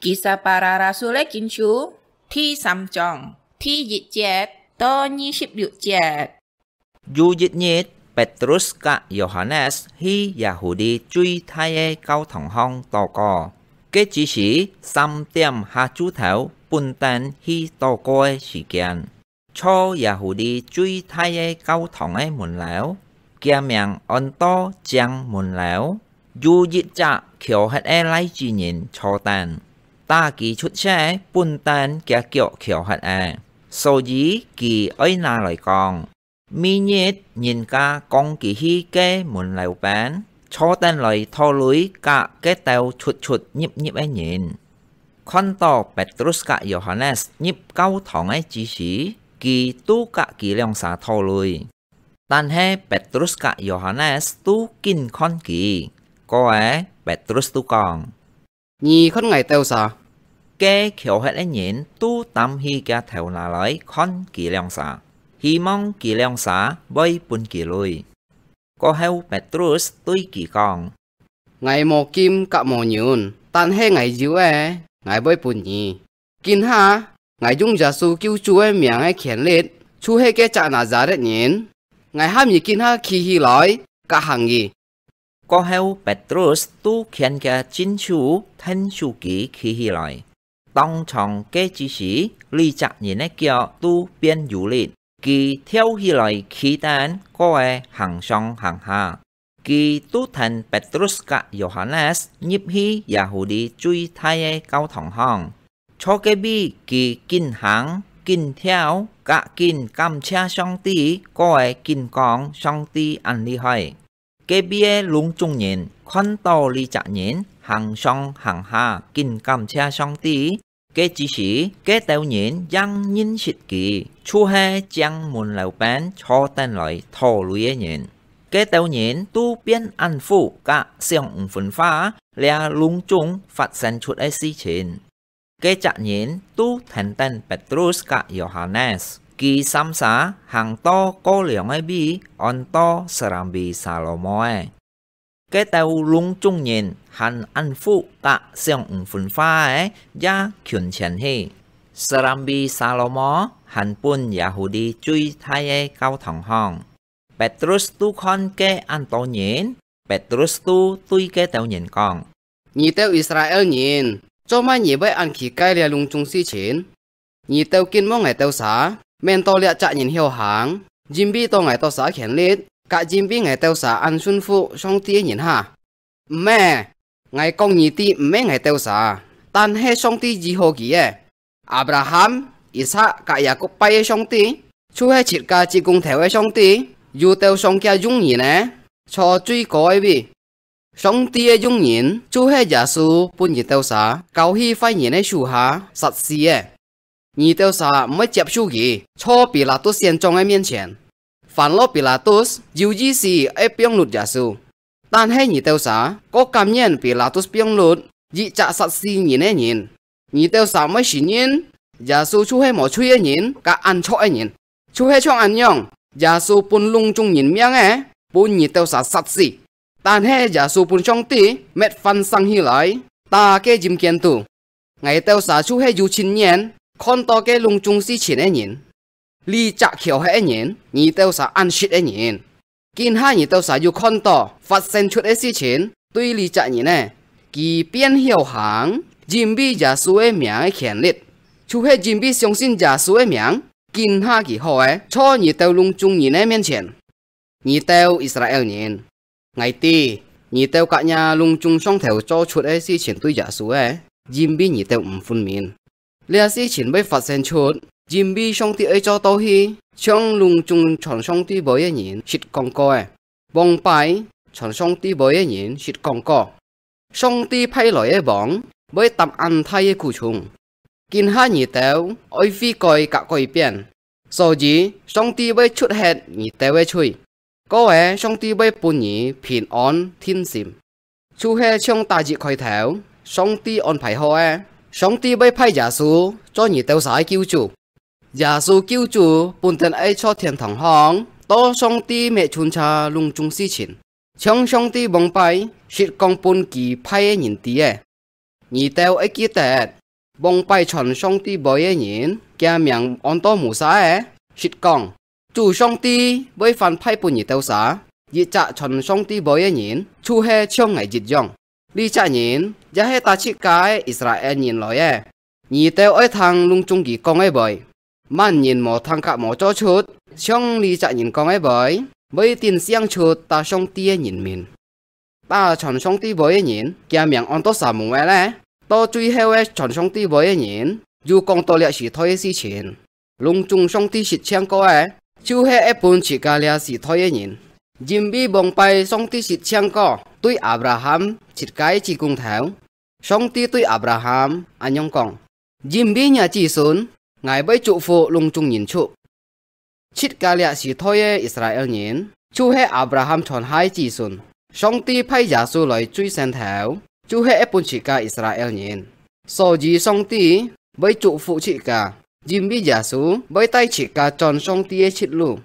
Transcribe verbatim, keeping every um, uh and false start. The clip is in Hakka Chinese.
Kisah Para Rasul-é Kinsú第三章第一節到二十六節。有一日，Petrus甲Yohanes去Yahudi最大个教堂項禱告。該只時三點下晝頭，本等去禱告个時間。 坐Yahudi最大个教堂个門樓，厥名安到正門樓，有一隻痀忒个倈子人坐等。打佢出世，本等厥腳痀忒个，所以佢愛拿來講。每日人家扛佢去該門樓邊，坐等來討鐳甲該兜出出入入个人。 看到Petrus甲Yohanes入教堂个之時，佢都甲佢兩儕討鐳。但係Petrus甲Yohanes都緊看佢。過後，Petrus都講：「你看𠊎兜儕？」該痀忒个人都擔起厥頭那來看佢兩儕，希望佢兩儕會分佢鐳。 過後Petrus對佢講：「𠊎無金甲無銀，但係𠊎有个，𠊎會分你。今下，𠊎用耶穌救主个名个權力，就係該隻拿撒勒人，𠊎喊你今下企起來，甲行去。」過後Petrus都牽厥正手，𢯭手佢企起來。 當場該之時，這隻人个腳都變有力，佢跳起來企等，過後行上行下。佢都跈Petrus甲Yohanes入去Yahudi最大个教堂項。坐該位佢緊行緊跳，甲緊感謝上帝，過後緊講上帝恁厲害。 該位个攏總人看到這隻人行上行下，緊感謝上帝。該之時，該兜人正認識佢，就係正門樓邊坐等來討鐳个人。該兜人都變恁服甲想毋分化，這攏總發生出个事情。 該隻人都跈等Petrus甲Yohanes，佢三儕行到過涼个位，安到Serambi Salomo个。該兜攏總人還恁服甲想毋分化个，也近前去。Serambi Salomo還分Yahudi最大个教堂項。 Petrus都看該恁多人，Petrus都對該兜人講：「你兜Israel人，做麼你會恁奇怪這攏總事情？你兜緊望𠊎兜儕，免到這隻人曉行，因為到𠊎兜儕權力，甲因為𠊎兜儕恁順服上帝个人哈？毋係，𠊎講你知毋係𠊎兜儕，但係上帝醫好佢个。 Abraham、Isak甲Yakub拜个上帝，就係自家叔公頭个上帝，有兜上厥用人呢，坐最高个位。上帝个用人，就係耶穌分你兜儕交去壞人个手下，殺死个。你兜儕毋會接受佢，坐Pilatus縣長个面前。 Phan lo Pilatus有意思愛放㪐耶穌，但係你兜儕過甘願Pilatus放㪐一隻殺死人个人。你兜儕毋會承認，耶穌就係無罪个人，甲恁錯个人。就係像恁樣，耶穌分攏總人命个，分你兜儕殺死。但係耶穌分上帝搣翻生起來，打該陰間肚。𠊎兜儕就係有親眼看到該攏總事情个人。 這隻痀忒个人，你兜儕恁識个人。今下你兜儕有看到發生出个事情，對這隻人呢，佢變曉行，因為耶穌个名个權力，就係因為相信耶穌个名，今下佢好个，坐你兜攏總人个面前。 你兜Israel人，𠊎知，你兜甲若攏總上頭做出个事情對耶穌个，因為你兜毋分明。這事情會發生出，因為上帝愛做到去，像攏總傳上帝話个人識講過个，往擺傳上帝話个人識講過。 上帝派來个王，會擔恁大个苦衷。今下你兜愛悔改甲改變，所以上帝會捽忒你兜个罪。過後上帝會分你平安定心。就係像Dawid開頭，上帝安排好个，上帝會派耶穌做你兜儕个救主。 耶穌救主本等愛坐天堂項，到上帝搣巡查攏總事情，像上帝往擺識講分佢派个人知个。你兜愛記得，往擺傳上帝會个人，厥名安到Musa欸，實講：主上帝會反派分你兜儕，一隻傳上帝會个人，就係像𠊎一樣。這隻人也係搭自家个Israel人來个。你兜愛聽攏總佢講个話，萬人無聽甲無做出，像這隻人講个話，會頂像出搭上帝个人民。 搭傳上帝會个人，厥名安到Samuel咧。到最後个傳上帝會个人，又講到這時代个事情。攏總上帝實踐過个，就係愛分自家這時代个人。因為往擺上帝實踐過對Abraham自家个子公頭，上帝對Abraham恁樣講：因為若子孫，𠊎會祝福攏總人族。 自家這時代个Israel人，就係Abraham傳下个子孫。上帝派耶穌來最先頭，就係愛分自家Israel人。所以上帝會祝福自家，因為耶穌會帶自家轉上帝个直路。